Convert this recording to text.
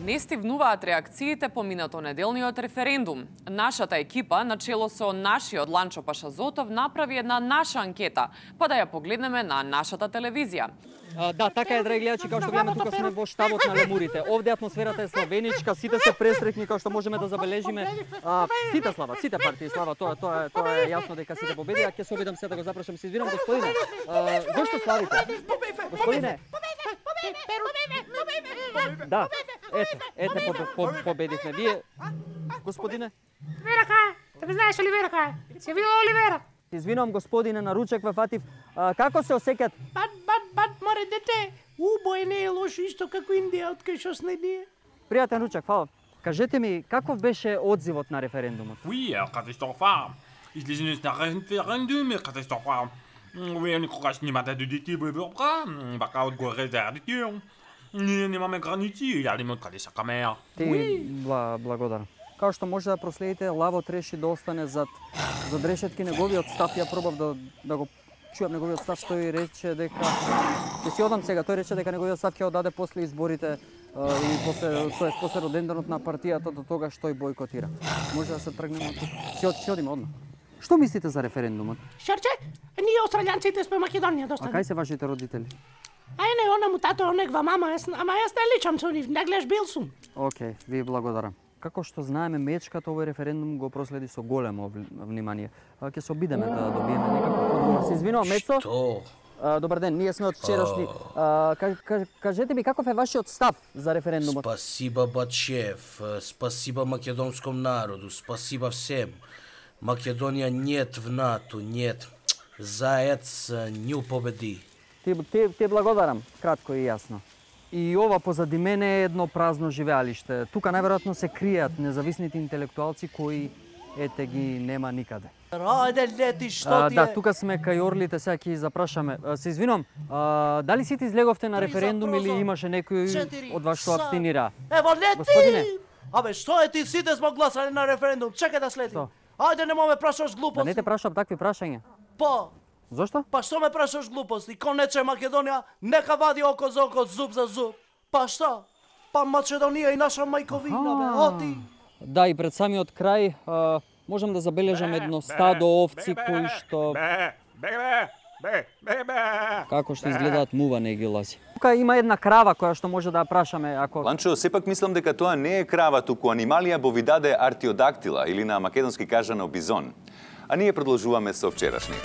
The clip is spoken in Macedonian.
Не стивнуваат реакциите по минатонеделниот референдум. Нашата екипа, начело со нашиот Ланчо Пашазотов, направи една наша анкета, па да ја погледнеме на нашата телевизија. Да, така е, драги гледачи, како што гледаме тука сме во штабот на лемурите. Овде атмосферата е словеничка, сите се пресреќни, како што можеме да забележиме. Сите слава, сите партии слава, тоа е јасно дека сите победија. Ќе се обидам се да го запрашам, се извинам, господине. Зошто славите? Господине. Да, ете победихме. Вие, господине? Оливера кај? Да ме знаеш Оливера кај? Се видел Оливера? Извинувам, господине, на ручек ве фатив. Како се осеќат? Бат, море дете, убој не е лошо исто како Индија, откај што сме ние. Пријатен ручек, фала. Кажете ми, каков беше одзивот на референдумот? Oui, катастрофа. Излизање на референдум е катастрофа. Вие никогаш немате да дете во Европа, бака одгоре зарадите. Ние немаме граници, јадиме од каде сакаме. Ти, благодарам. Као што може да проследите, Лавот реши да остане зад решетки. Неговиот став, ја пробав да го чујам неговиот став, тој рече дека ќе си одам сега, тој рече дека неговиот став ќе одаде после изборите и после роденденот на партијата до тогаш тој бойкотира. Може да се тргнеме од тука. Ќе одиме одма. Што мислите за референдумот? Шарче, ние австралијанците сме Македонија доста. А кај се вашите родители? Ај не, она му тато, онегва мама, ама јас не личам со нив, не гледаш бил сум. Океј, ви благодарам. Како што знаеме, мечката овој референдум го проследи со големо внимание. Ќе се обидеме да добиеме некаков одговор. Се извинувам, Мецо. Што? Добар ден, ние сме од вчерашни. Кажете ми каков е вашиот став за референдумот? Спасиба Бачев, спасиба македонском народу, спасиба всем. Македонија нет в НАТО, нет. Заец нju победи. Ти благодарам, кратко и јасно. И ова позади мене е едно празно живеалиште. Тука најверојатно се кријат независните интелектуалци кои ете ги нема никаде. Рајде лети, што ти е? Да, тука сме кај орлите, сега ќе запрашаме. Се извинувам, дали сите излеговте на референдум или имаше некој од вас што абстинира? Ево лети! Господине. Абе, што е ти, сите сме гласали на референдум, чекај да следи. Ајде, нема ме прашаш глупости. Да не те прашам такви прашања. Па, Зошто? па што ме прашаш глупости? Конече Македонија, нека вади око за око, зуб за зуб. Па што? Па Македонија и наша мајковина, бе, оти. Да, и пред самиот крај можам да забележам едно стадо овци кои што како што изгледаат мува не ги ласи. Тука има една крава која што може да ја прашаме ако Ланчо, сепак мислам дека тоа не е крава, туку анималија бовидаде артиодактила или на македонски кажано бизон. А ние продолжуваме со вчерашни.